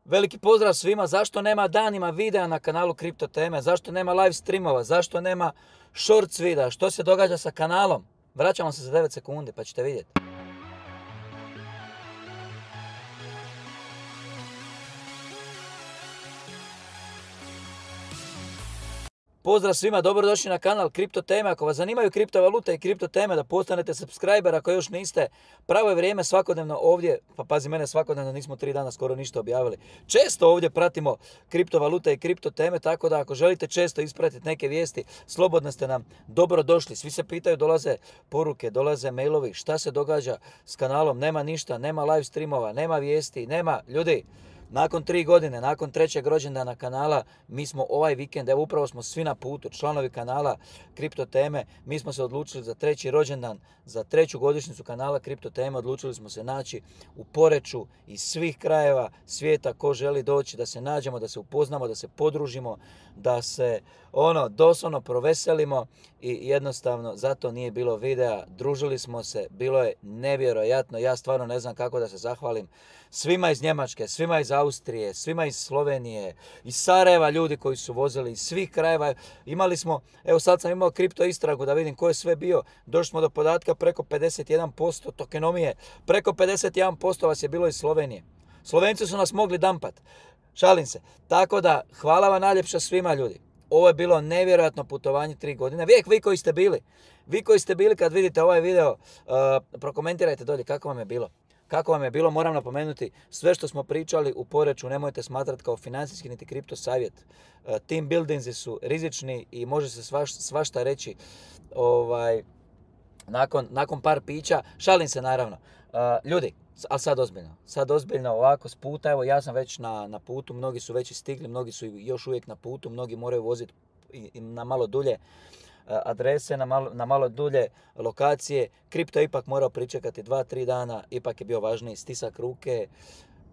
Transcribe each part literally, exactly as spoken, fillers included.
Veliki pozdrav svima. Zašto nema danima videa na kanalu Kripto Teme? Zašto nema live streamova? Zašto nema shorts videa? Što se događa sa kanalom? Vraćamo se za devet sekundi pa ćete vidjeti. Pozdrav svima, dobrodošli na kanal Kripto Teme. Ako vas zanimaju kriptovalute i kripto teme, da postanete subscriber ako još niste. Pravo je vrijeme svakodnevno ovdje, pa pazi mene, svakodnevno nismo tri dana skoro ništa objavili. Često ovdje pratimo kriptovalute i kripto teme, tako da ako želite često ispratiti neke vijesti, slobodno ste nam dobrodošli. Svi se pitaju, dolaze poruke, dolaze mailovi, šta se događa s kanalom, nema ništa, nema live streamova, nema vijesti, nema ljudi. Nakon tri godine, nakon trećeg rođendana kanala, mi smo ovaj vikend, evo upravo smo svi na putu, članovi kanala Kripto Teme, mi smo se odlučili za treći rođendan, za treću godišnjicu kanala Kripto Teme, odlučili smo se naći u Poreču iz svih krajeva svijeta. Ko želi doći, da se nađemo, da se upoznamo, da se podružimo, da se ono doslovno proveselimo i jednostavno zato nije bilo videa. Družili smo se, bilo je nevjerojatno, ja stvarno ne znam kako da se zahvalim svima iz Njemačke, svima iz Austrije, svima iz Slovenije, iz Sarajeva, ljudi koji su vozili iz svih krajeva. Imali smo, evo sad sam imao kripto istragu da vidim ko je sve bio, došli smo do podatka preko pedeset jedan posto tokenomije, preko pedeset jedan posto vas je bilo iz Slovenije. Slovenci su nas mogli dampat, šalim se. Tako da, hvala vam najljepša svima ljudi. Ovo je bilo nevjerojatno putovanje tri godine. Vijek vi koji ste bili, vi koji ste bili kad vidite ovaj video, uh, prokomentirajte dolje kako vam je bilo. Kako vam je bilo, moram napomenuti, sve što smo pričali u Poreču nemojte smatrati kao financijski niti kripto savjet. Uh, team buildingsi su rizični i može se svaš, svašta reći ovaj, nakon, nakon par pića. Šalim se naravno. Uh, ljudi, ali sad ozbiljno, sad ozbiljno ovako s puta, evo ja sam već na, na putu, mnogi su već stigli, mnogi su još uvijek na putu, mnogi moraju voziti na malo dulje adrese, na malo, na malo dulje lokacije. Kripto je ipak morao pričekati dva, tri dana, ipak je bio važniji stisak ruke,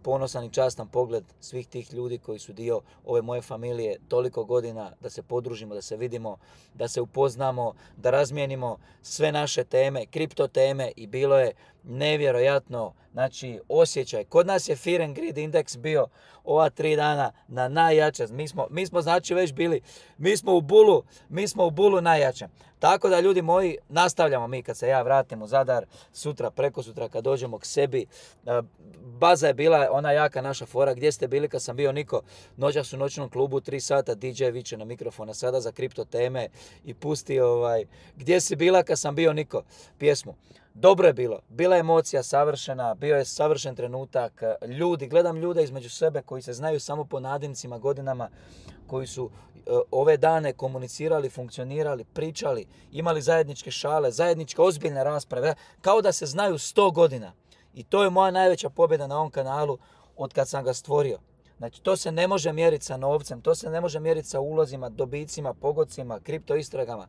ponosan i častan pogled svih tih ljudi koji su dio ove moje familije toliko godina, da se podružimo, da se vidimo, da se upoznamo, da razmijenimo sve naše teme, kripto teme i bilo je nevjerojatno, znači osjećaj. Kod nas je Fear and Greed indeks bio ova tri dana na najjače. Mi smo, mi smo znači već bili, mi smo u bulu, mi smo u bulu najjače. Tako da ljudi moji, nastavljamo mi kad se ja vratim u Zadar, sutra, preko sutra kad dođemo k sebi. Baza je bila ona jaka naša fora, gdje ste bili kad sam bio Niko, noćas u noćnom klubu, tri sata, D J viče na mikrofona sada za kripto teme i pusti ovaj, gdje si bila kad sam bio Niko, pjesmu. Dobro je bilo, bila je emocija savršena, bio je savršen trenutak, ljudi, gledam ljude između sebe koji se znaju samo po nadimcima godinama, koji su uh, ove dane komunicirali, funkcionirali, pričali, imali zajedničke šale, zajedničke ozbiljne rasprave, kao da se znaju sto godina. I to je moja najveća pobjeda na ovom kanalu od kad sam ga stvorio. Znači, to se ne može mjeriti sa novcem, to se ne može mjeriti sa ulozima, dobicima, pogodcima, kripto istragama.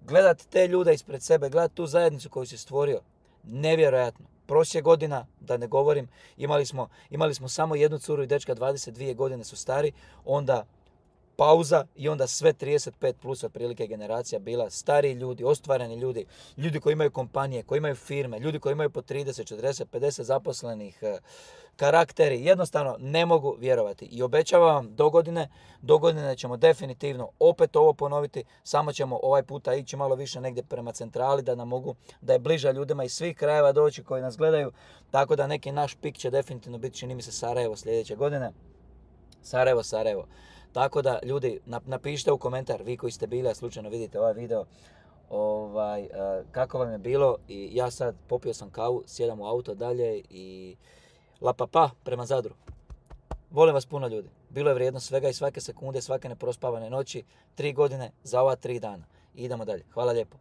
Gledati te ljude ispred sebe, gledati tu zajednicu koju si stvorio, nevjerojatno. Prošle godina, da ne govorim, imali smo, imali smo samo jednu curu i dečka, dvadeset dvije godine su stari, onda pauza i onda sve trideset pet plus otprilike generacija bila stari ljudi, ostvareni ljudi, ljudi koji imaju kompanije, koji imaju firme, ljudi koji imaju po trideset, četrdeset, pedeset zaposlenih, karakteri, jednostavno ne mogu vjerovati. I obećavam vam do godine, do godine ćemo definitivno opet ovo ponoviti, samo ćemo ovaj puta ići malo više negdje prema centrali da nam mogu, da je bliža ljudima iz svih krajeva doći koji nas gledaju, tako da neki naš pik će definitivno biti, čini mi se, Sarajevo sljedeće godine. Sarajevo, Sarajevo. Tako da, ljudi, napišite u komentar, vi koji ste bili, a slučajno vidite ovaj video, ovaj, uh, kako vam je bilo. I ja sad popio sam kavu, sjedam u auto dalje i la pa pa prema Zadru. Volim vas puno ljudi. Bilo je vrijedno svega i svake sekunde, svake neprospavane noći, tri godine za ova tri dana. I idemo dalje. Hvala lijepo.